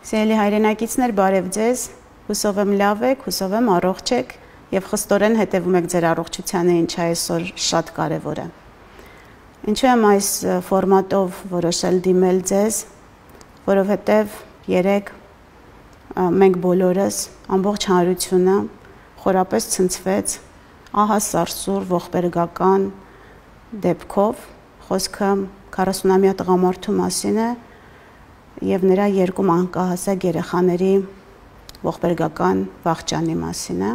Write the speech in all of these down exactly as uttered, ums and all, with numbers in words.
Սիրելի հայրենակիցներ, բարև ձեզ, հուսով եմ լավ եք, հուսով եմ առողջ եք և խստորեն հետևում եք ձեր առողջությանը, ինչը այսօր շատ կարևոր է։ Ինչու եմ այս ֆորմատով որոշել դիմել ձեզ, որովհետև երեկ մենք բոլորս, ամբողջ հանրությունը խորապես ցնցվեց ահա սարսուռ ողբերգական դեպքով, խոսքը քառասունամյա տղամարդու մասին է և նրա երկու մանկահասակ երեխաների ողբերգական վախճանի մասին է։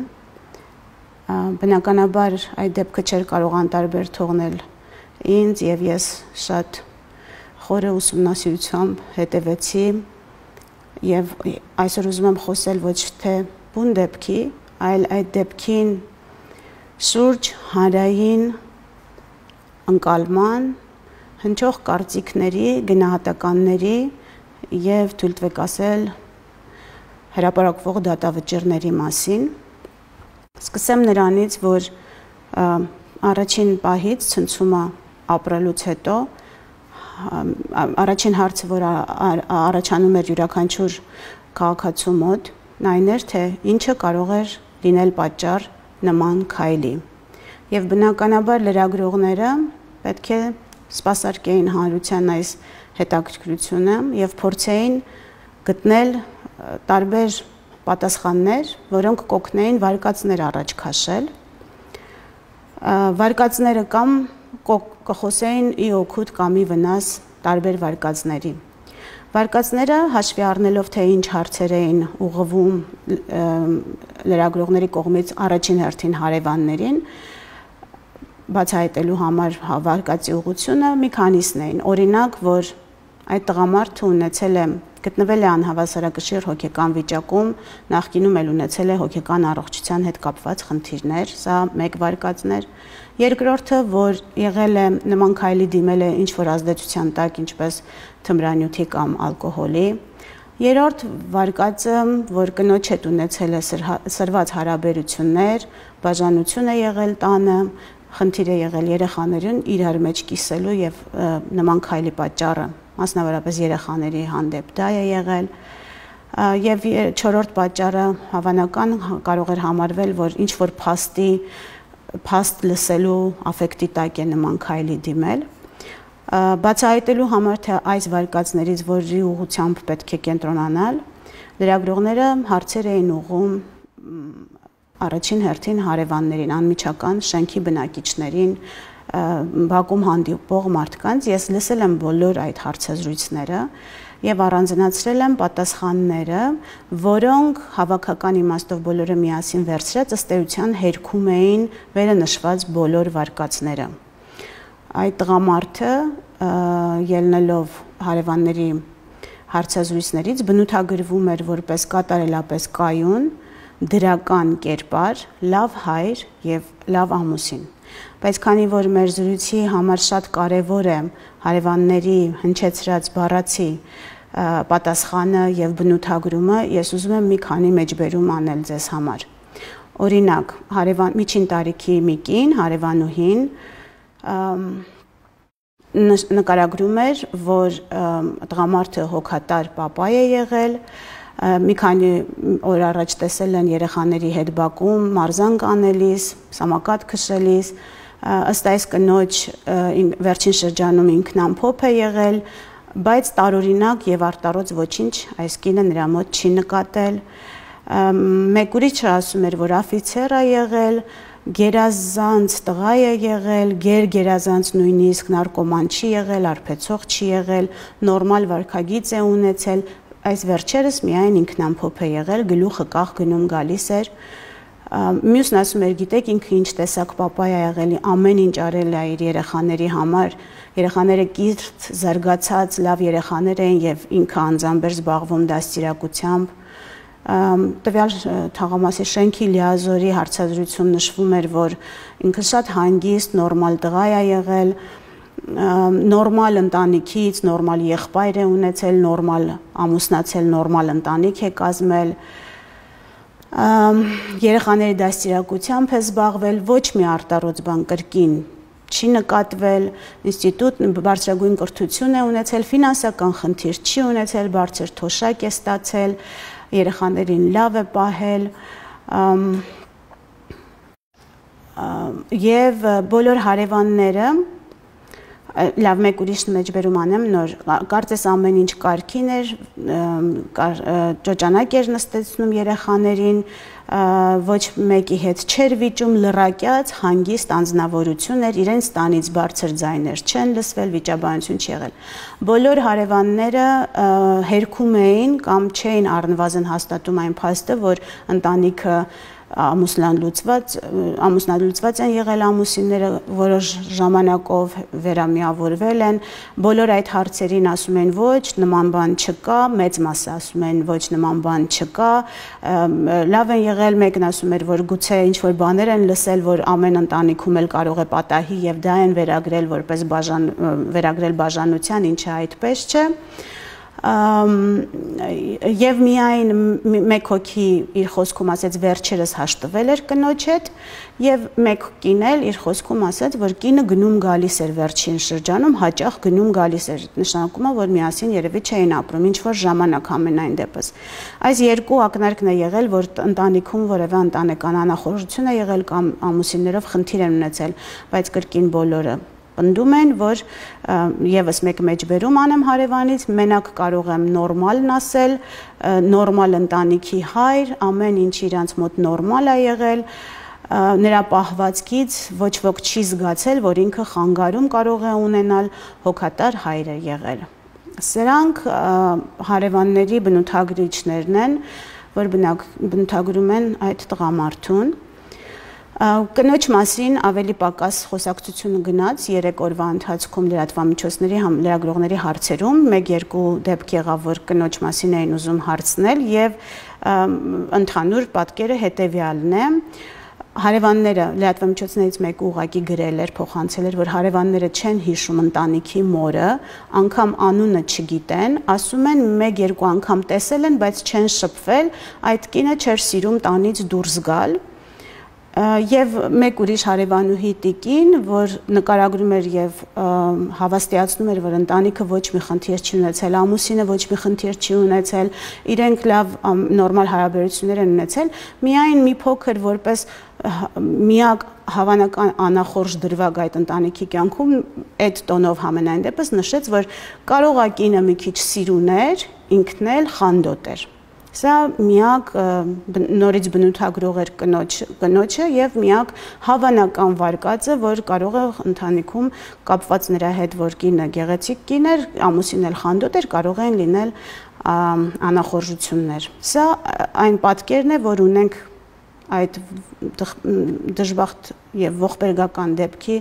Բնականաբար այդ դեպքը չէր կարող անտարբեր թողնել ինձ և ես շատ խորը ուսումնասիրությամբ հետևեցի և այսօր ուզում եմ խոսել ոչ թե բուն դեպքի, այլ այդ դեպքին շուրջ հանրային ընկալման, հնչող կարծիքների, գնահատականների և թույլ տվեք ասել հրապարակվող դատավճիռների մասին։ Սկսեմ նրանից, որ առաջին պահից ցնցումը ապրելուց հետո առաջին հարցը, որ առաջանում էր յուրաքանչյուր քաղաքացու մոտ, այն էր, թե ինչը կարող էր լինել պատճառ նման քայլի։ Եվ բնականաբար լրագրողները պետք է սպասարկեին հանրության այս հետաքրքրությունը և փորձեին գտնել տարբեր պատասխաններ, որոնք կօգնեին վարկածներ առաջ քաշել։ Վարկածները կամ կխոսեին ի օգուտ կամ ի վնաս տարբեր վարկածների։ Վարկածները հաշվի առնելով, թե ինչ հարցեր էին ուղղվում լրագրողների կողմից առաջին հերթին հարևաններին, բացահայտելու համար վարկածի ուղղությունը մի քանիսն էին, օրինակ, որ այդ տղամարդը ունեցել է, գտնվել է անհավասարակշիռ հոգեկան վիճակում, նախկինում էլ ունեցել է հոգեկան առողջության հետ կապված խնդիրներ, սա մեկ վարկածն էր։ Երկրորդը, որ եղել է նման քայլի դիմել է ինչ-որ ազդեցության տակ, ինչպես թմրանյութի կամ ալկոհոլի։ Երրորդ վարկածը, որ կնոջ հետ ունեցել է սրված հարաբերություններ, բաժանություն է եղել տանը, խնդիր է եղել երեխաներին իրար մեջ կիսելու և նման քայլի պատճառը, մասնավորապես երեխաների հանդեպ դա է եղել։ Եվ չորրորդ պատճառը հավանական կարող էր համարվել, որ ինչ-որ փաստի, փաստ լսելու աֆեկտի տակ է նման քայլի դիմել։ Բացահայտելու համար, թե այս վարկածներից որի ուղղությամբ պետք է կենտրոնանալ, լրագրողները հարցեր էին ուղղում առաջին հերթին հարևաններին, անմիջական շենքի բնակիչներին, բակում հանդիպող մարդկանց։ Ես լսել եմ բոլոր այդ հարցազրույցները և առանձնացրել եմ պատասխանները, որոնք հավաքական իմաստով բոլորը միասին վերցրած ըստ էության հերքում էին վերը նշված բոլոր վարկածները։ Այդ տղամարդը, ելնելով հարևանների հարցազրույցներից, բնութագրվում էր որպես կատարելապես կայուն, դրական կերպար, լավ հայր և լավ ամուսին։ Բայց քանի որ մեր զրույցի համար շատ կարևոր է հարևանների հնչեցրած բառացի պատասխանը և բնութագրումը, ես ուզում եմ մի քանի մեջբերում անել ձեզ համար։ Օրինակ, միջին տարիքի մի կին, հարևանուհին, նկարագրում էր, որ տղամարդը հոգատար պապա է եղել, մի քանի օր առաջ տեսել են երեխաների հետ բակում, մարզանք անելիս, սամակատ քշելիս, ըստ այս կնոջ վերջին շրջանում ինքնամփոփ է եղել, բայց տարօրինակ և արտառոց ոչինչ այս կինը նրա մոտ չի նկատել։ Մեկ ուրիշը ասում էր, որ աֆիցեր է եղել, գերազանց տղա է եղել, գեր-գերազանց նույնիսկ նարկոման չի եղել, արբեցող չի եղել, նորմալ վարքագիծ է ունեցել, այս վերջերս միայն ինքնամփոփ է եղել, գլուխը կախ գնում գալիս էր։ Մյուսն ասում էր, գիտեք, ինքը ինչ տեսակ պապա է եղել, ամեն ինչ արել է իր երեխաների համար, երեխաները կիրթ, զարգացած, լավ երեխաներ էին և ինքը անձամբ էր զբաղվում դաստիարակությամբ։ Տվյալ թաղամասի շենքի լիազորի հարցազրույցում նշվում էր, որ ինքը շատ հանգիստ, նորմալ տղա է եղել, նորմալ ընտանիքից, նորմալ եղբայր է ունեցել, նորմալ ամուսնացել, նորմալ ընտանիք է կազմել, երեխաների դաստիարակությամբ է զբաղվել, ոչ մի արտառոց բան կրկին չի նկատվել, ինստիտուտ բարձրագույն կրթություն է ունեցել, ֆինանսական խնդիր չի ունեցել, բարձր թոշակ է ստացել, երեխաներին լավ է պահել, եւ բոլոր հարևանները լավ մեկ ուրիշ մեջբերում անեմ նոր կարծես ամեն ինչ կարգին էր ճոճանակ էր նստեցնում երեխաներին ոչ մեկի հետ չէր վիճում լռակյաց հանգիստ անձնավորություն էր իրենց տանից բարձր ձայներ չեն լսվել վիճաբանություն չի եղել բոլոր հարևանները հերքում էին կամ չէին առնվազն հաստատում այն փաստը որ ընտանիքը ամուսնալուծված ամուսնալուծված են եղել ամուսինները որոշ ժամանակով վերամիավորվել են բոլոր այդ հարցերին ասում են ոչ նման բան չկա մեծ մասը ասում են ոչ նման բան չկա լավ են եղել մեկն ասում էր որ գուցե ինչ որ բաներ են լսել որ ամեն ընտանիքում էլ կարող է պատահի եւ դա են վերագրել որպես բաժան վերագրել բաժանության ինչը այդպես չէ եւ միայն մեկ հոգի իր խոսքում ասեց վերջերս հաշտվել էր կնոջ հետ եւ մեկ կին էլ իր խոսքում ասաց որ կինը գնում գալիս էր վերջին շրջանում հաճախ գնում գալիս էր նշանակում է որ միասին երևի չէին ապրում ինչ որ ժամանակ ամենայն դեպս այս երկու ակնարկն է եղել որ ընտանիքում որևէ ընտանեկան անախորժություն է եղել կամ ամուսիններով խնդիր են ունեցել բայց կրկին բոլորը Պնդում են, որ եւս մեկ մեջբերում անեմ հարևանից, մենակ կարող եմ նորմալն ասել, նորմալ ընտանիքի հայր, ամեն ինչ իրանց մոտ նորմալ է եղել, նրա պահվածքից ոչ ոք չի զգացել, որ ինքը խանգարում կարող է ունենալ հոգատար հայր է եղել։ Սրանք հարևանների բնութագրիչներն են, որ բնութագրում են այդ տղամարդուն Կնոջ մասին ավելի պակաս խոսակցությունը գնաց երեք օրվա ընթացքում լրատվամիջոցների լրագրողների հարցերում մեկ-երկու դեպք եղավ որ կնոջ մասին էին ուզում հարցնել եւ ընդհանուր պատկերը հետեւյալն է Հարևանները լրատվամիջոցներից մեկը ուղակի գրել էր փոխանցել էր որ հարևանները չեն հիշում ընտանիքի մորը անգամ անունը չգիտեն ասում են մեկ-երկու անգամ տեսել են բայց չեն շփվել այդ կինը չէր սիրում տանից դուրս գալ Եվ մեկ ուրիշ հարևանուհի տիկին, որ նկարագրում էր եւ հավաստիացնում էր, որ ընտանիքը ոչ մի խնդիր չի ունեցել, ամուսինը ոչ մի խնդիր չի ունեցել, իրենք լավ նորմալ հարաբերություններ են ունեցել, միայն մի փոքր որպես միակ հավանական անախորժ դրվագ այդ ընտանիքի կյանքում այդ տոնով համենայն դեպս նշեց, որ կարող է կինը մի քիչ սիրուներ, ինքն էլ խանդոտ էր Սա միակ նորից բնութագրող էր կնոջը եւ միակ հավանական վարկածը, որ կարող է ընտանիքում կապված նրա հետ, որ կինը գեղեցիկ կին էր, ամուսինն էլ խանդոտ էր, կարող են լինել անախորժություններ։ Սա այն պատկերն է, որ ունենք այդ դժբախտ եւ ողբերգական դեպքի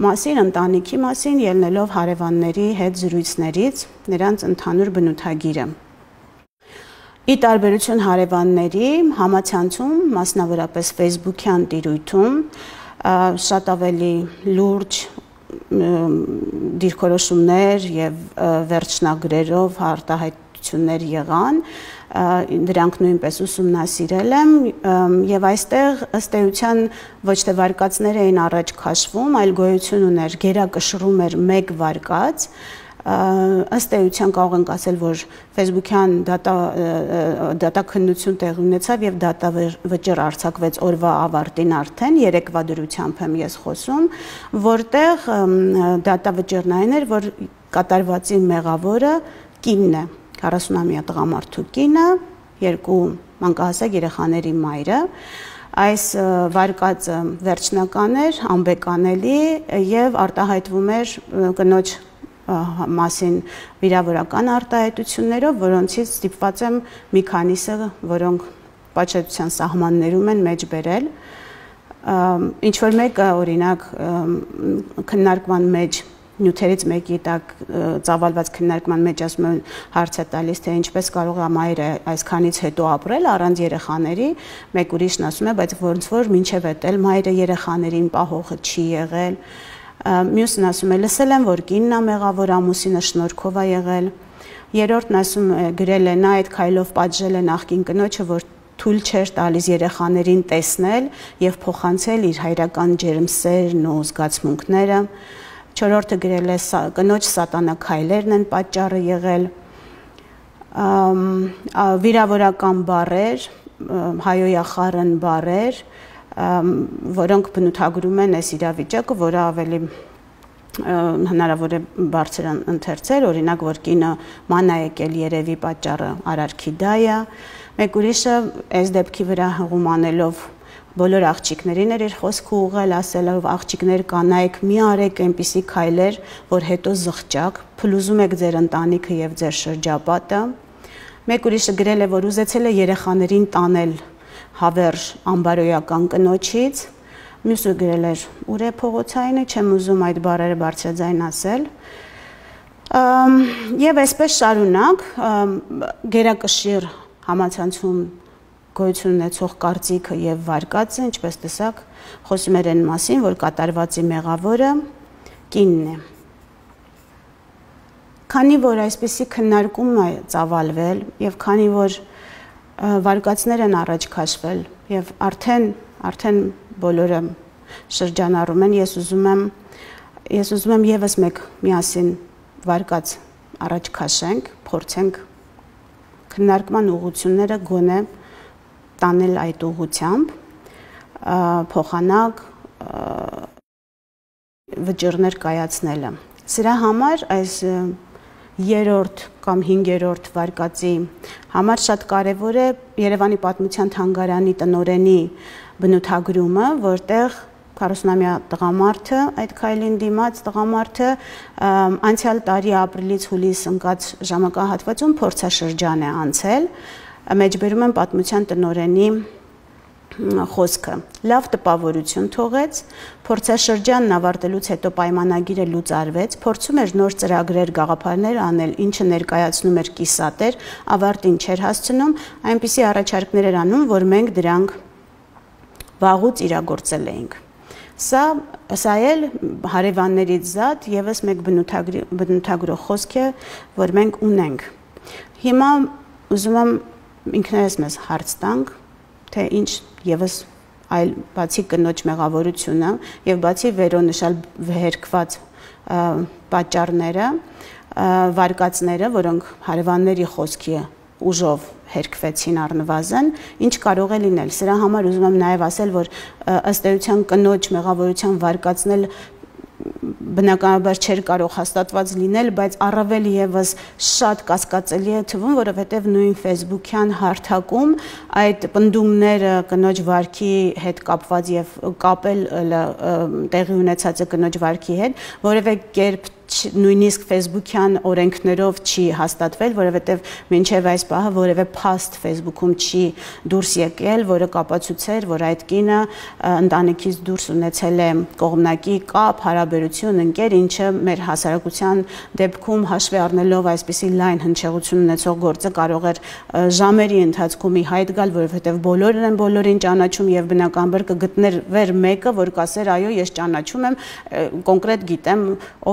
մասին, ընտանիքի մասին, ելնելով հարևանների հետ զրույցներից, նրանց ընդհանուր բնութագիրը։ Ի տարբերություն հարևանների համացանցում, մասնավորապես Facebook-յան տիրույթում, շատ ավելի լուրջ դիրքորոշումներ եւ վերջնագրերով արտահայտություններ եղան, դրանք նույնպես ուսումնասիրել եմ եւ այստեղ ըստ էության ոչ թե վարկածներ էին առաջ քաշվում, այլ գոյություն ուներ գերակշռում էր մեկ վարկած ըստ էության կարող ենք ասել, որ Facebook-յան դատաքննություն տեղի ունեցավ եւ դատավճիռ արձակվեց օրվա ավարտին արդեն երեկվա դրությամբ եմ ես խոսում, որտեղ դատավճիռն այն էր, որ կատարվածի մեղավորը կինն է, քառասունամյա տղամարդու կինը, երկու մանկահասակ երեխաների մայրը Այս վարկածը վերջնական էր, անբեկանելի եւ արտահայտվում էր կնոջ մասին վիրավորական արտահայտություններով, որոնցից ստիպված եմ մի քանիսը, որոնք պատժետության սահմաններում են մեջ բերել։ Ինչ որ մեկը օրինակ քննարկման մեջ նյութերից մեկի տակ ծավալված քննարկման մեջ ասում են հարց է տալիս թե ինչպես կարող է մայրը այսքանից հետո ապրել առանց երեխաների, մեկ ուրիշն ասում է, բայց ոնց որ մինչև էդ էլ մայրը երեխաներին պահողը չի եղել Մյուսն ասում է լսել եմ, որ կինն է մեղավոր, ամուսինը շնորհքով է եղել։ Երրորդն ասում է գրել է նա այդ քայլով պատժել է նախկին կնոջը, որ թույլ չէր տալիս երեխաներին տեսնել եւ փոխանցել իր հայրական ջերմսերն ու զգացմունքները։ Չորրորդը գրել է կնոջ սատանաքայլերն են պատճառը եղել։ Վիրավորական բառեր, հայոյախառն բառեր, որոնք բնութագրում են այս իրավիճակը, որը ավելի հնարավոր է բարձր ընթերցել, օրինակ, որ կինը ման է եկել երևի պատճառը արարքի դա է։ Մեկ ուրիշը այս դեպքի վրա հղում անելով բոլոր աղջիկներին էր իր խոսքը ուղղել, ասելով աղջիկներ կանայք մի արեք այնպիսի քայլեր, որ հետո զղջակ, փլուզում եք ձեր ընտանիքը եւ ձեր շրջապատը։ Մեկ ուրիշը գրել է, որ ուզեցել է երեխաներին տանել հավերժ ամբարոյական կնոջից։ Մյուսը գրել էր ուր է փողոցայինը, չեմ ուզում այդ բառերը բարձրաձայն ասել։ Եվ այսպես շարունակ գերակշիռ համացանցում գոյություն ունեցող կարծիքը եւ վարկածը, ինչպես տեսակ, խոսում էր այն մասին, որ կատարվածի մեղավորը կինն է։ Քանի որ այսպիսի քննարկում է ծավալվել եւ քանի որ վարկածներ են առաջ քաշվել եւ արդեն արդեն բոլորը շրջանառում են, ես ուզում եմ ես ուզում եմ եւս մեկ միասին վարկած առաջ քաշենք, փորձենք քննարկման ուղղությունները գոնե տանել այդ ուղղությամբ, փոխանակ վճիռներ կայացնելը։ Սրա համար այս երրորդ կամ հինգերորդ վարկածի համար շատ կարևոր է Երևանի պատմության թանգարանի տնօրենի բնութագրումը, որտեղ քառասունամյա տղամարդը, այդ քայլին դիմաց տղամարդը անցյալ տարի ապրիլից հուլիս ընկած ժամանակահատվածում փորձաշրջան է անցել, մեջբերում են պատմության տնօրենի խոսքը։ Լավ տպավորություն թողեց, փորձաշրջանն ավարտելուց հետո պայմանագիրը լուծարվեց, փորձում էր նոր ծրագրեր, գաղափարներ անել, ինչը ներկայացնում էր կիսատեր, ավարտին չէր հասցնում, այնպիսի առաջարկներ էր անում, որ մենք դրանք վաղուց իրագործել էինք։ Սա սա էլ հարևաններից զատ եւս մեկ բնութագրող խոսք է, որ մենք ունենք։ Հիմա ուզում եմ ինքներս մեզ հարց տանք, թե ինչ եւս այլ բացի կնոջ մեղավորությունը եւ բացի վերոնշալ վերքված պատճառները, վարկածները, որոնք հարևանների խոսքի ուժով հերքվեցին առնվազն, ինչ կարող է լինել։ Սրա համար ուզում եմ նաեւ ասել, որ ըստ էության կնոջ մեղավորության վարկածնել բնականաբար չէր կարող հաստատված լինել, բայց առավել եւս շատ կասկածելի է թվում, որովհետեւ նույն Facebook-յան հարթակում այդ պնդումները կնոջ վարքի հետ կապված եւ կապել տեղի ունեցածը կնոջ վարքի հետ, որևէ կերպ նույնիսկ Facebook-յան օրենքներով չի հաստատվել, որովհետև մինչև այս պահը որևէ փաստ Facebook-ում չի դուրս եկել, որը կապացուցեր, որ այդ կինը ընտանիքից դուրս ունեցել է կողմնակի կապ, հարաբերություն, ընկեր, ինչը մեր հասարակության դեպքում հաշվի առնելով այսպիսի լայն հնչեղություն ունեցող գործը կարող էր ժամերի ընթացքում ի հայտ գալ, որովհետև բոլորն են բոլորին ճանաչում եւ բնականաբար կգտներ վեր մեկը, որ կասեր, այո, ես ճանաչում եմ, կոնկրետ գիտեմ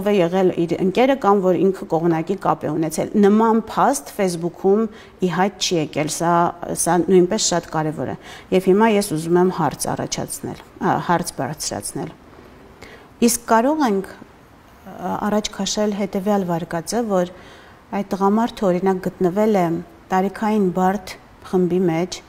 ով է եղել իր ընկերը կամ որ ինքը կողմնակի կապ է ունեցել։ Նման փաստ Facebook-ում ի հայտ չի եկել, սա սա նույնպես շատ կարևոր է։ Եվ հիմա ես ուզում եմ հարց առաջացնել, հարց բարձրացնել։ Իսկ կարող ենք առաջ քաշել հետևյալ վարկածը, որ այդ տղամարդը օրինակ գտնվել է տարիքային բարդ խմբի մեջ,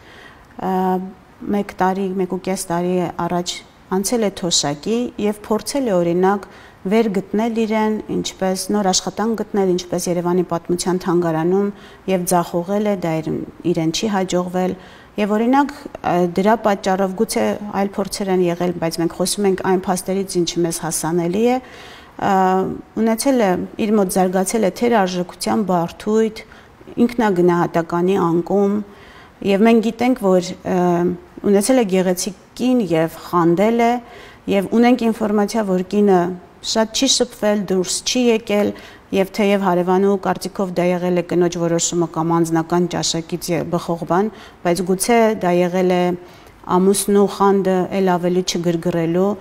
մեկ տարի, մեկ ու կես տարի առաջ անցել է թոշակի եւ փորձել է օրինակ վեր գտնել իրեն, ինչպես նոր աշխատանք գտնել, ինչպես Երևանի պատմության թանգարանում եւ ձախողել է, դա իրեն չի հաջողվել եւ օրինակ դրա պատճառով գուցե այլ փորձեր են եղել, բայց մենք խոսում ենք այն փաստերից, ինչը մեզ հասանելի է, ունեցել է իր մոտ զարգացել է թերարժեքության բարդույթ, ինքնագնահատականի անկում եւ մենք գիտենք, որ ունեցել է գեղեցիկ կին եւ խանդել է եւ ունենք ինֆորմացիա, որ կինը շատ չի շփվել, դուրս չի եկել եւ թեև հարևանու կարծիքով դա եղել է կնոջ որոշումը կամ անձնական ճաշակից բխող բան, բայց գուցե դա եղել է ամուսնու խանդը ել ավելի չգրգռելու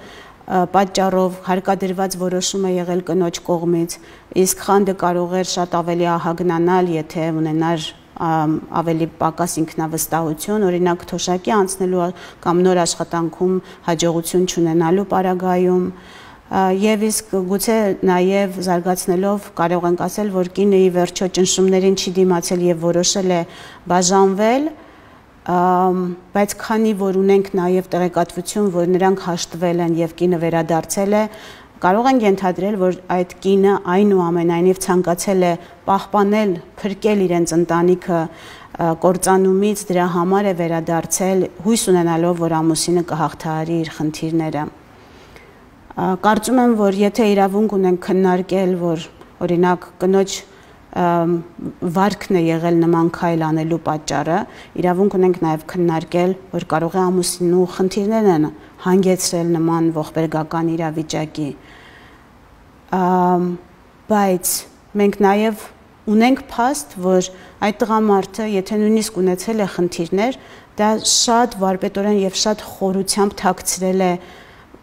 պատճառով հարկադրված որոշում է եղել կնոջ կողմից, իսկ խանդը կարող էր շատ ավելի ահագնանալ, եթե ունենար ավելի պակաս ինքնավստահություն, օրինակ թոշակի անցնելու կամ նոր աշխատանքում հաջողություն չունենալու պարագայում, եւ իսկ գուցե նաեւ զարգացնելով կարող ենք ասել, որ կինը ի վերջո ճնշումներին չի դիմացել եւ որոշել է բաժանվել, բայց քանի որ ունենք նաեւ տեղեկատվություն, որ նրանք հաշտվել են եւ կինը վերադարձել է, կարող ենք ենթադրել, որ այդ կինը այնուամենայնիվ ցանկացել է պահպանել, փրկել իրենց ընտանիքը կործանումից, դրա համար է վերադարձել, հույս ունենալով, որ ամուսինը կհաղթահարի իր խնդիրները։ Կարծում եմ, որ եթե իրավունք ունենք քննարկել, որ օրինակ կնոջ վարքն է եղել նման քայլ անելու պատճառը, իրավունք ունենք նաև քննարկել, որ կարող է ամուսինու խնդիրներն են հանգեցրել նման ողբերգական իրավիճակի։ Բայց մենք նաև ունենք փաստ, որ այդ տղամարդը, եթե նույնիսկ ունեցել է խնդիրներ, դա շատ վարպետորեն եւ շատ խորությամբ թաքցրել է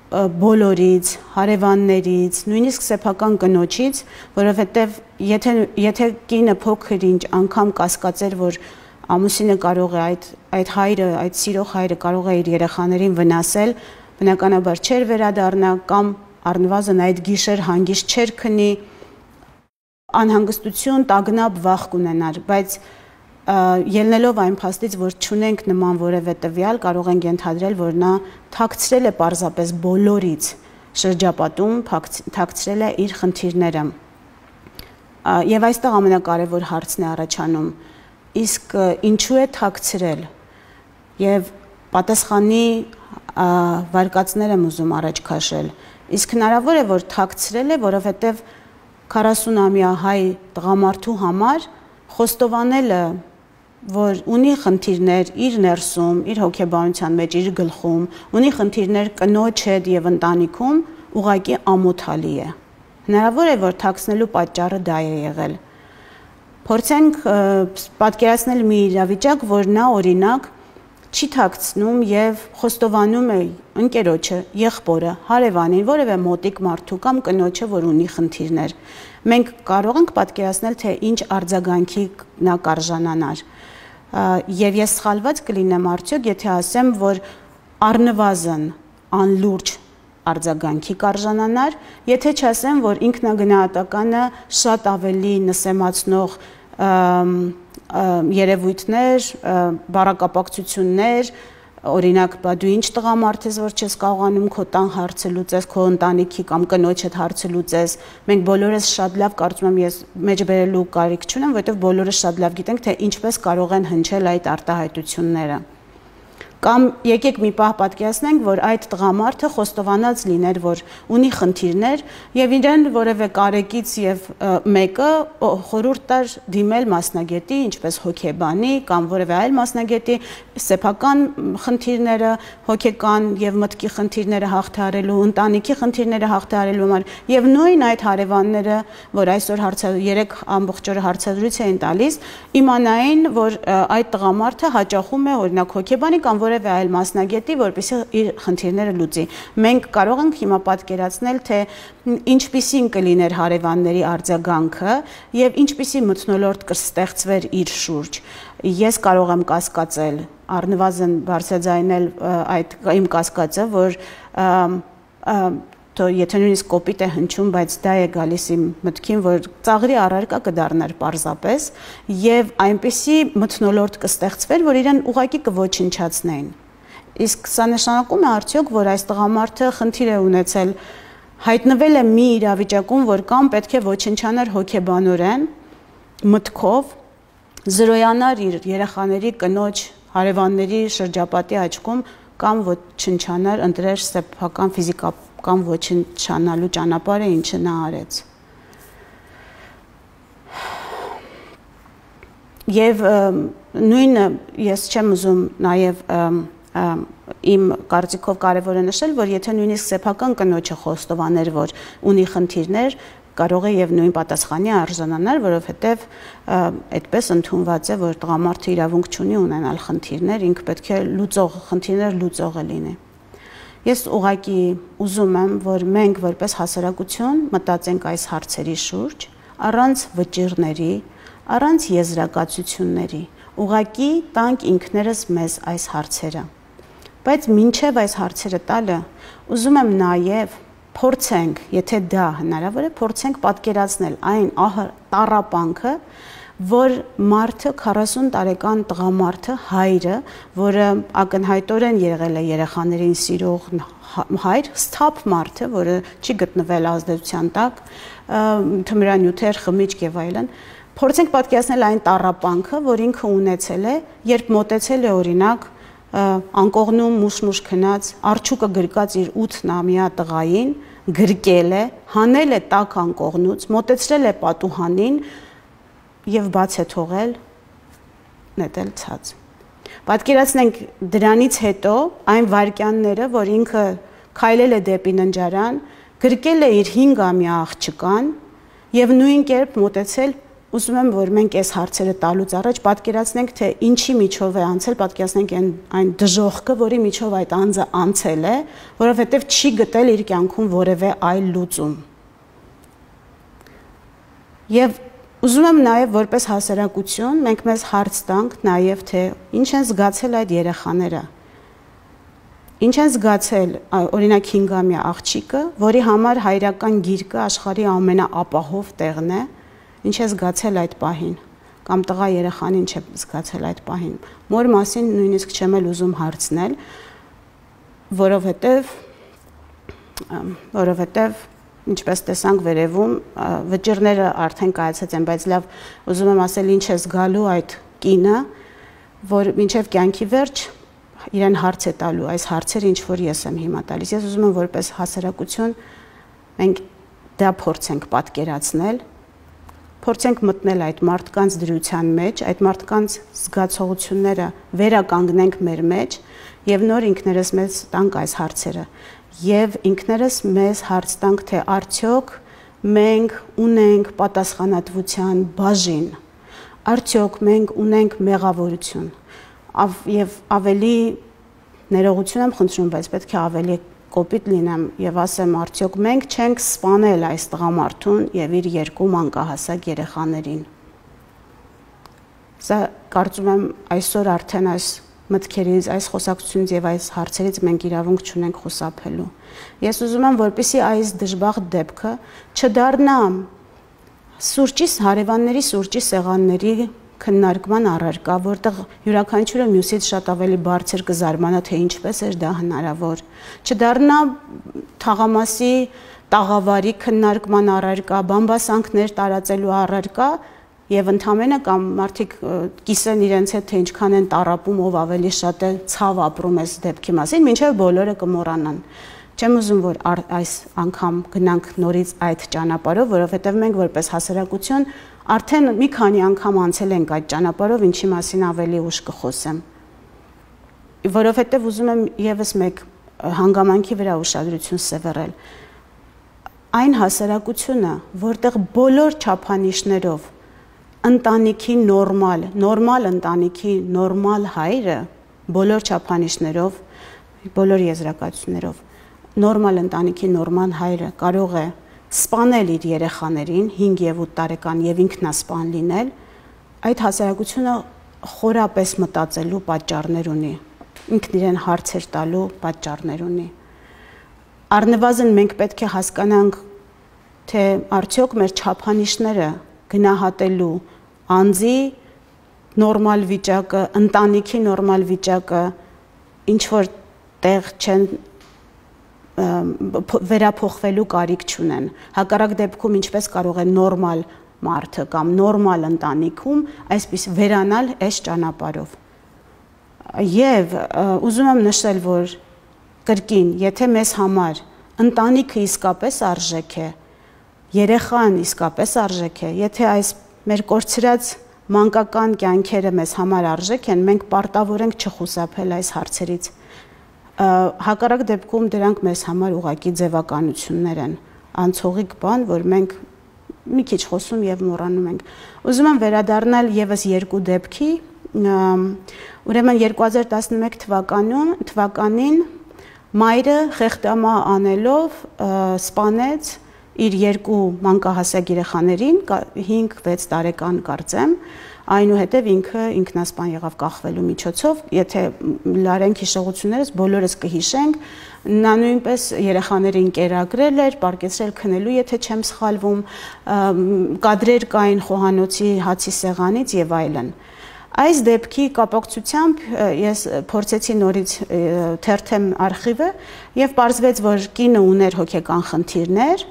բոլորից, հարևաններից, նույնիսկ սեփական կնոջից, որովհետև եթե եթե կինը փոքր ինչ անգամ կասկածեր, որ ամուսինը կարող է այդ այդ հայրը, այդ սիրող հայրը կարող է իր երեխաներին վնասել, բնականաբար չէր վերադառնա կամ առնվազն այդ գիշեր հանգիստ չէր քնի, անհանգստություն, տագնապ, վախ կունենար, բայց ելնելով այն փաստից, որ չունենք նման որևէ տվյալ, կարող ենք ենթադրել, որ նա թաքցրել է պարզապես բոլորից շրջապատում, թաքցրել է իր խնդիրները։ Եվ այստեղ ամենակարևոր հարցն է առաջանում, իսկ ինչու է թաքցրել, եւ պատասխանի վարկածներ եմ ուզում առաջ քաշել, իսկ հնարավոր է, որ թաքցրել է, որովհետեւ քառասունամյա հայ տղամարդու համար խոստովանելը, որ ունի խնդիրներ իր ներսում, իր հոգեբանության մեջ, իր գլխում, ունի խնդիրներ կնոջ հետ եւ ընտանիքում, ուղղակի ամոթալի է։ Հնարավոր է, որ թաքցնելու պատճառը դա է եղել։ Փորձենք պատկերացնել մի իրավիճակ, որ նա օրինակ չի թաքցնում եւ խոստովանում է ընկերոջը, եղբորը, հարևանին, որևէ մոտիկ մարդու կամ կնոջը, որ ունի խնդիրներ։ Մենք կարող ենք պատկերացնել, թե ինչ արձագանքի նա կարժանանար։ Եվ ես սխալված կլինեմ արդյոք, եթե ասեմ, որ առնվազն անլուրջ արձագանքի կարժանանար, եթե չասեմ, որ ինքնագնահատականը շատ ավելի նսեմացնող երևույթներ, բառակապակցություններ, օրինակ, բա դու ինչ տղամարդ ես, որ չես կարողանում քո տան հարցը լուծես, քո ընտանիքի կամ կնոջդ հարցը լուծես։ Մենք բոլորս շատ լավ, կարծում եմ, ես մեջբերելու կարիք չունեմ, որովհետև բոլորս շատ լավ գիտենք, թե ինչպես կարող են հնչել այդ արտահայտությունները։ Կամ եկեք մի պահ պատկերացնենք, որ այդ տղամարդը խոստովանած լիներ, որ ունի խնդիրներ եւ իրեն որևէ կարեկից եւ մեկը խորհուրդ տար դիմել մասնագետի, ինչպես հոգեբանի կամ որևէ այլ մասնագետի, սեփական խնդիրները, հոգեկան եւ մտքի խնդիրները հաղթահարելու, ընտանիքի խնդիրները հաղթահարելու համար եւ նույն այդ հարևանները, որ այսօր երեք ամբողջ օրը հարցազրույց էին տալիս, իմանային, որ այդ տղամարդը հաճախում է օրինակ հոգեբանի կամ որևէ այլ մասնագետի, որպեսզի իր խնդիրները լուծի։ Մենք կարող ենք հիմա պատկերացնել, թե ինչպիսին կլիներ հարևանների արձագանքը եւ ինչպիսի մթնոլորտ կստեղծվեր իր շուրջ։ Ես կարող եմ կասկածել, առնվազն բարձրաձայնել այդ իմ կասկածը, որ եթե նույնիսկ կոպիտ է հնչում, բայց դա է գալիս իմ մտքին, որ ծաղրի առարկա կդառնար պարզապես եւ այնպիսի մթնոլորտ կստեղծվեր, որ իրեն ուղակի կոչնչացնեին։ Իսկ սա նշանակում է արդյոք, որ այս տղամարդը խնդիր է ունեցել, հայտնվել է մի իրավիճակում, որ կամ պետք է ոչնչանար հոգեբանորեն, մտքով, զրոյանար իր երեխաների, կնոջ, հարևանների շրջապատի աչքում, կամ ոչնչանար, ընտրեր սեփական ֆիզիկական կամ ոչնչանալու ճանապարհը, ինչը նա արեց։ Եվ նույնը ես չեմ ուզում նաև իմ կարծիքով կարևոր է նշել, որ եթե նույնիսկ սեփական կնոջը խոստովաներ, որ ունի խնդիրներ, կարող է եւ նույն պատասխանի արժանանալ, որովհետեւ այդպես ընդունված է, որ տղամարդը իրավունք չունի ունենալ խնդիրներ, ինքը պետք է լուծող խնդիրներ լուծողը լինի։ Ես ուղղակի ուզում եմ, որ մենք որպես հասարակություն մտածենք այս հարցերի շուրջ, առանց վճիռների, առանց եզրակացությունների, ուղղակի տանք ինքներս մեզ այս հարցերը։ Բայց մինչև այս հարցերը տալը, ուզում եմ նաև փորձենք, եթե դա հնարավոր է, փորձենք պատկերացնել այն տառապանքը, որ մարդը քառասուն տարեկան տղամարդը, հայրը, որը ակնհայտորեն եղել է երեխաներին սիրող հայր, սթափ մարդը, որը չի գտնվել ազդեցության տակ, թմրանյութեր, խմիչք եւ այլն, փորձենք պատկերացնել այն տառապանքը, որ ինքը ունեցել է, երբ մոտեցել է օրինակ անկողնում մուշ-մուշ քնած, արջուկը գրկած իր ութ-ամյա տղային, գրկել է, հանել է տաք անկողնուց, մոտեցրել է պատուհանին եւ բաց է թողել, նետել ցած։ Պատկերացնենք դրանից հետո այն վայրկյանները, որ ինքը քայլել է դեպի ննջարան, գրկել է իր հինգամյա աղջկան եւ նույն կերպ մոտեցել, ուզում եմ, որ մենք այս հարցերը տալուց առաջ պատկերացնենք, թե ինչի միջով է անցել, պատկերացնենք այն, այն դժոխքը, որի միջով այդ անձը անցել է, որովհետեւ չի գտել իր կյանքում որևէ այլ լուծում։ Եվ ուզում եմ նաև որպես հասարակություն մենք մեզ հարց տանք նաև թե ինչ են զգացել այդ երեխաները։ Ինչ են զգացել օրինակ հինգամյա աղջիկը, որի համար հայրական գիրկը աշխարհի ամենաապահով տեղն է, ինչ է զգացել այդ պահին, կամ տղա երեխան ինչ է զգացել այդ պահին։ Մոր մասին նույնիսկ չեմ էլ ուզում հարցնել, որովհետև որովհետև ինչպես տեսանք վերևում, վճիռները արդեն կայացած են, բայց լավ, ուզում եմ ասել ինչ է զգալու այդ կինը, որ մինչև կյանքի վերջ իրեն հարց է տալու, այս հարցերը ինչ որ ես եմ հիմա տալիս։ Ես ուզում եմ որպես հասարակություն մենք դա փորձենք պատկերացնել, փորձենք մտնել այդ մարդկանց դրության մեջ, այդ մարդկանց զգացողությունները վերականգնենք մեր մեջ եւ նոր ինքներս մեզ տանք այս հարցերը եւ ինքներս մեզ հարց տանք, թե արդյոք մենք ունենք պատասխանատվության բաժին, արդյոք մենք ունենք մեղավորություն եւ ավելի ներողություն եմ խնդրում, բայց պետք է ավելի կոպիտ լինեմ եւ ասեմ, արդյոք մենք չենք սպանել այս տղամարդուն եւ իր երկու մանկահասակ երեխաներին։ Սա կարծում եմ այսօր արդեն այս մտքերից, այս խոսակցությունից եւ այս հարցերից մենք իրավունք չունենք խուսափելու։ Ես ուզում եմ, որպեսզի այս դժբախտ դեպքը չդառնա սուրճի, հարևանների սուրճի սեղանների քննարկման առարկա, որտեղ յուրաքանչյուրը մյուսից շատ ավելի բարձր կզարմանա, թե ինչպես էր դա հնարավոր, չդառնա թաղամասի տաղավարի քննարկման առարկա, բամբասանքներ տարածելու առարկա եւ ընդհանրապես կամ մարդիկ կիսեն իրենց հետ, թե ինչքան են տառապում, ով ավելի շատ է ցավ ապրում այս դեպքի մասին, մինչեւ բոլորը կմոռանան։ Չեմ ուզում, որ այս անգամ գնանք նորից այդ ճանապարհով, որովհետեւ մենք որպես հասարակություն արդեն մի քանի անգամ անցել ենք այդ ճանապարհով, ինչի մասին ավելի ուշ կխոսեմ։ Որովհետեւ ուզում եմ եւս մեկ հանգամանքի վրա ուշադրություն սևեռել։ Այն հասարակությունը, որտեղ բոլոր չափանիշներով ընտանիքի նորմալ, նորմալ ընտանիքի նորմալ հայրը, բոլոր չափանիշներով, բոլոր եզրակացություններով, նորմալ ընտանիքի նորմալ հայրը կարող է սպանել իր երեխաներին հինգ եւ ութ տարեկան եւ ինքնասպան լինել, այդ հասարակությունը խորապես մտածելու պատճառներ ունի, ինքն իրեն հարցեր տալու պատճառներ ունի։ Առնվազն մենք պետք է հասկանանք, թե արդյոք մեր չափանիշները գնահատելու անձի նորմալ վիճակը, ընտանիքի նորմալ վիճակը ինչ որ տեղ չեն վերափոխվելու կարիք չունեն։ Հակառակ դեպքում ինչպես կարող է նորմալ մարդը կամ նորմալ ընտանիքում այսպես վերանալ այս ճանապարհով։ Եվ ուզում եմ նշել, որ կրկին, եթե մեզ համար ընտանիքը իսկապես արժեք է, երեխան իսկապես արժեք է, եթե այս մեր կորցրած մանկական կյանքերը մեզ համար արժեք են, մենք պարտավոր ենք չխուսափել այս հարցերից։ Հակառակ դեպքում դրանք մեզ համար ուղղակի ձևականություններ են, անցողիկ բան, որ մենք մի քիչ խոսում եւ մոռանում ենք։ Ուզում եմ վերադառնալ եւս երկու դեպքի, ուրեմն երկու հազար տասնմեկ թվականում, թվականին մայրը խեղդամահ անելով սպանեց իր երկու մանկահասակ երեխաներին, հինգ վեց տարեկան կարծեմ, այնուհետև ինքը ինքնասպան եղավ կախվելու միջոցով, եթե լարենք հիշողություններս, բոլորս կհիշենք, նա նույնպես երեխաներին կերակրել էր, պարկեցրել քնելու, եթե չեմ սխալվում, կադրեր կային խոհանոցի հացի սեղանից եւ այլն։ Այս դեպքի կապակցությամբ ես փորձեցի նորից թերթեմ արխիվը եւ պարզվեց, որ կինը ուներ հոգեկան խնդիրներ,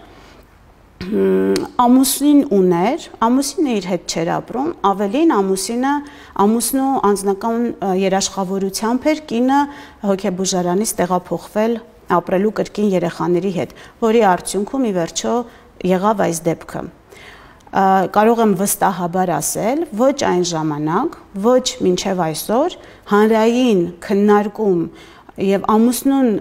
ամուսին ուներ, ամուսինը իր հետ չէր ապրում, ավելին ամուսինը ամուսնու անձնական երաշխավորությամբ էր կինը հոգեբուժարանից տեղափոխվել ապրելու կրկին երեխաների հետ, որի արդյունքում ի վերջո եղավ այս դեպքը։ Կարող եմ վստահաբար ասել, ոչ այն ժամանակ, ոչ մինչև այսօր հանրային քննարկում եւ ամուսնուն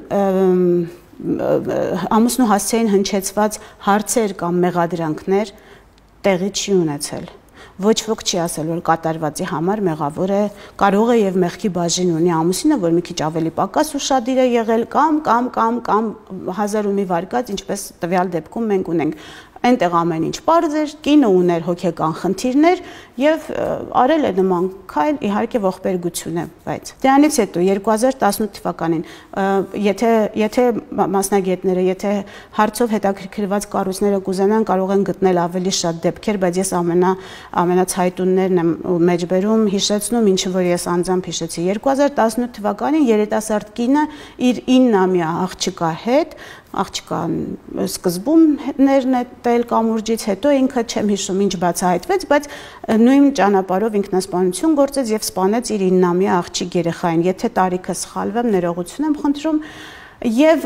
ամուսնու հասցեին հնչեցված հարցեր կամ մեղադրանքներ տեղի չի ունեցել։ Ոչ ոք չի ասել, որ կատարվածի համար մեղավոր է, կարող է եւ մեղքի բաժին ունի ամուսինը, որ մի քիչ ավելի պակաս ուշադիր է եղել կամ կամ կամ կամ հազար ու մի վարկած, ինչպես տվյալ դեպքում մենք ունենք։ Այնտեղ ամեն ինչ պարզ էր, կինը ուներ հոգեկան խնդիրներ եւ արել է նման քայլ, իհարկե ողբերգություն է, բայց դրանից հետո երկու հազար տասնութ թվականին, եթե եթե մասնագետները, եթե հարցով հետաքրքրված կառույցները կուզենան, կարող են գտնել ավելի շատ դեպքեր, բայց ես ամենա ամենացայտուններն եմ մեջբերում, հիշեցնում, ինչը որ ես անձամբ հիշեցի։ երկու հազար տասնութ թվականին երիտասարդ կինը իր իննամյա աղջկա հետ աղջկան սկզբում ներնետել կամուրջից, հետո ինքը չեմ հիշում ինչ բացահայտվեց, բայց նույն ճանապարհով ինքնասպանություն գործեց եւ սպանեց իր իննամյա աղջիկ երեխային։ Եթե տարիքը սխալվեմ, ներողություն եմ խնդրում, եւ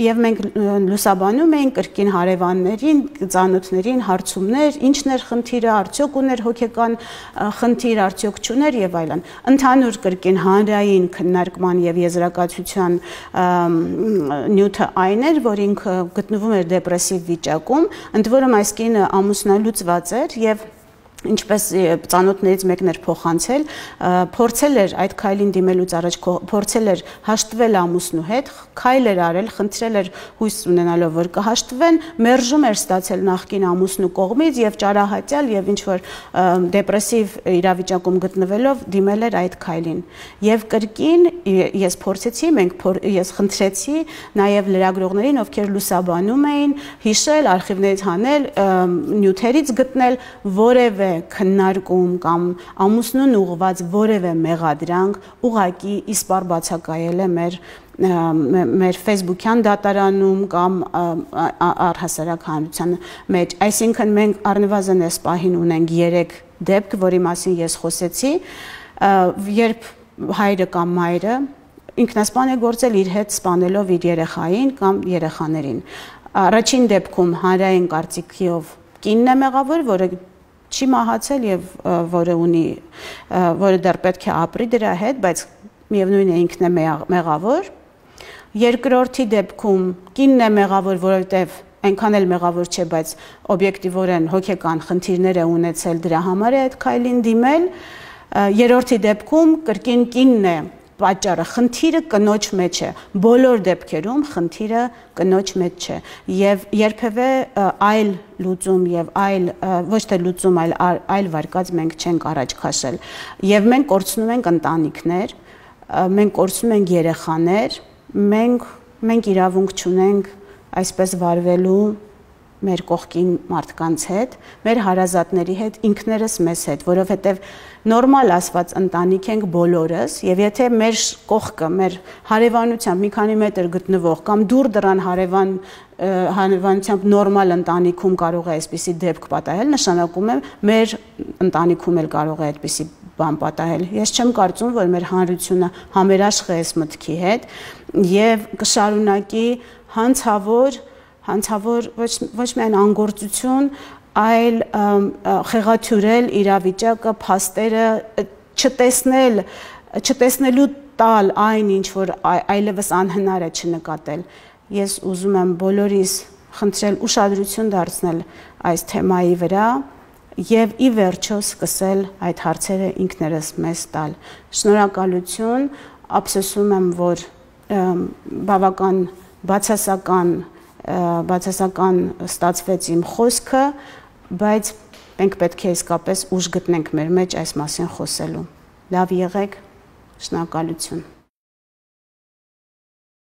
եւ մենք լուսաբանում էինք կրկին հարևաններին, ծանոթներին հարցումներ, ինչն էր խնդիրը, արդյոք ուներ հոգեկան խնդիր, արդյոք չուներ եւ այլն։ Ընդհանուր կրկին հանրային քննարկման եւ եզրակացության նյութը այն էր, որ ինքը գտնվում էր դեպրեսիվ վիճակում, ընդ որում այս կինը ամուսնալուծված էր եւ ինչպես ծանոթներից մեկն էր փոխանցել, փորձել էր այդ քայլին դիմելուց առաջ փորձել էր հաշտվել ամուսնու հետ, քայլ էր արել, խնդրել էր հույս ունենալով, որ կհաշտվեն, մերժում էր ստացել նախկին ամուսնու կողմից եւ ճարահատյալ եւ ինչ որ դեպրեսիվ իրավիճակում գտնվելով դիմել էր այդ քայլին։ Եվ կրկին ես փորձեցի, մենք ես խնդրեցի նաեւ լրագրողներին, ովքեր լուսաբանում էին, հիշել, արխիվներից հանել, նյութերից գտնել որևէ քննարկում կամ ամուսնուն ուղղված որևէ մեղադրանք ուղղակի իսպառ բացակայել է մեր մեր Facebook-յան դատարանում կամ առհասարակ հանրության մեջ, այսինքն մենք առնվազն այս պահին ունենք երեք դեպք, որի մասին ես խոսեցի, երբ հայրը կամ մայրը ինքնասպան է գործել իր հետ սպանելով իր երեխային կամ երեխաներին։ Առաջին դեպքում հանրային կարծիքով կինն է մեղավոր, որը չի մահացել եւ որը ունի որը դեռ պետք է ապրի դրա հետ, բայց միևնույն է ինքն է մեղավոր։ Երկրորդի դեպքում կինն է մեղավոր, որովհետեւ այնքան էլ մեղավոր չէ, բայց օբյեկտիվորեն հոգեկան խնդիրներ է ունեցել, դրա համար է այդ քայլին դիմել։ Երրորդի դեպքում կրկին կինն է պատճառը, խնդիրը կնոջ մեջ է, բոլոր դեպքերում խնդիրը կնոջ մեջ չէ եւ երբևէ այլ լուծում եւ այլ ոչ թե լուծում, այլ այլ վարկած մենք չենք առաջ քաշել եւ մենք կորցնում ենք ընտանիքներ, մենք կորցնում ենք երեխաներ, մենք մենք իրավունք չունենք այսպես վարվելու մեր կողքին մարդկանց հետ, մեր հարազատների հետ, ինքներս մեզ հետ, որովհետև նորմալ ասված ընտանիք ենք բոլորս, եւ եթե մեր կողքը, մեր հարևանությամբ մի քանի մետր գտնվող կամ դուր դրան հարևան հարևանությամբ նորմալ ընտանիքում կարող է այսպիսի դեպք պատահել, նշանակում է մեր ընտանիքում էլ կարող է այդպիսի բան պատահել։ Ես չեմ կարծում, որ մեր հանրությունը համերաշխ է այս մտքի հետ եւ կշարունակի հանցավոր հանցավոր ոչ ոչ միայն անգործություն, այլ խեղաթյուրել իրավիճակը, փաստերը, չտեսնել, չտեսնելու տալ այն, ինչ որ այլևս անհնար է չնկատել։ Ես ուզում եմ բոլորիս խնդրել ուշադրություն դարձնել այս թեմայի վրա եւ ի վերջո սկսել այդ հարցերը ինքներս մեզ տալ։ Շնորհակալություն, ափսոսում եմ, որ բավական բացասական բացասական ստացվեց իմ խոսքը, բայց մենք պետք է իսկապես ուժ գտնենք մեր մեջ այս մասին խոսելու։ Լավ եղեք, շնորհակալություն։